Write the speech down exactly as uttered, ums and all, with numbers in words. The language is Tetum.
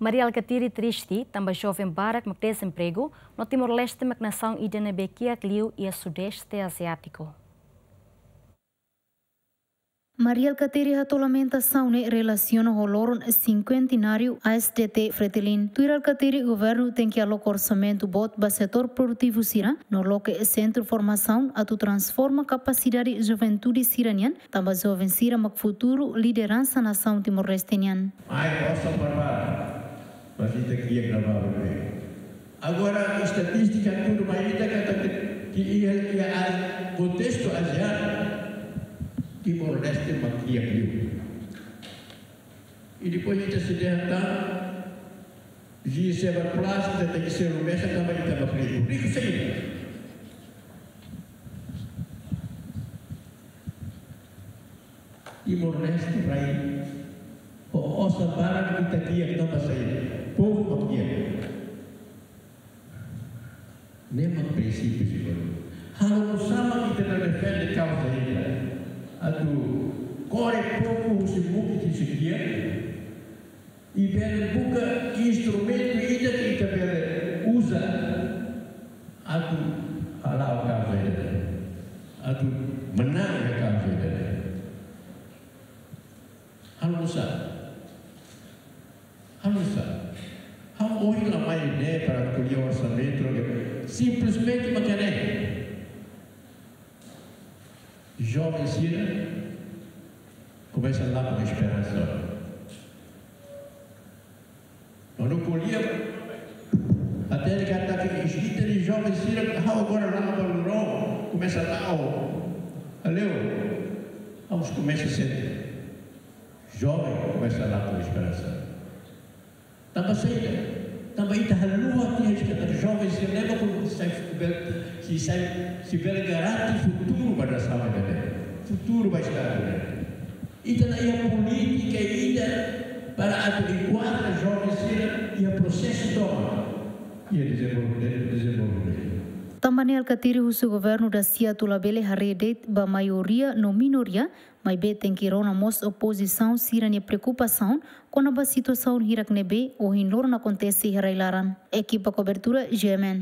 Mari Alkatiri triste tanba joven barak mak dezempregu, no Timor-Leste mak nasaun ida ne'ebé kiak liu iha Sudeste Aziátiku. Mari Alkatiri hato'o lamentasaun ne'e relasiona ho loron sinkuentenáriu A S D T Fretilin. Tuir Alkatiri, governu tenke aloka orsamentu boot ba setór produtivu sira, no loke sentru formasaun atu transforma kapasidade juventude sira-nian, tanba joven sira mak futuru lideransa nasaun Timor-Leste nian. Mai osan barbara, mas ita kiak ne'ebá beibeik. Agora, estatístika tudu mai ita katak ke, ke iha, iha a-, kontestu ASEAN, Timor-Leste mak kiak liu. I depois ita sei dehan tan, G seven plus, ita tenke selu mesak tanba ita mak riku. Riku saida? Timor-Leste rai ho osan barak, ita kiak tanba saida? Povu mak kiak. Ne'e mak prinsípiu sira. Halo nusá mak ita bele defende kauza ida? Atu kore povu husi mukit husi kiak, i bele buka instrumentu ida ke ita bele uza atu hala'o kauza ida, atu manán iha kauza ida. Halo nusá? Halo nusá? Ha'u ohin la mai ne'e para ko'alia orsamentu, simplesmente mak ne'e. Joven sira komesa lakon esperansa. Kuandu ko'alia, até ele katak ke escrita de joven sira, ha'u agora la'o ba loron, komesa la'o. Valeu. Vamos começar cedo. Joven komesa lakon esperansa. Tanba saida? Tanba ita haluha tiha katak joven sira ne'ebé mak sei bele, sei, sei, sei bele garante futuru ba nasaun ida-ne'e, futuru ba estadu ida-ne'e. Ita la iha polítika ida para atu enkuadra joven sira iha prosesu tomak iha dezenvolve-, dezenvolvimentu. Tanba ne'e Alkatiri husu governu dasia atu labele haree de'it ba maioria no minoria, maibé tenke rona mós opozisaun sira-nia preokupasaun kona-ba situasaun hirak ne'ebé ohin loron akontese iha rai-laran. Ekipa kobertura, G M N.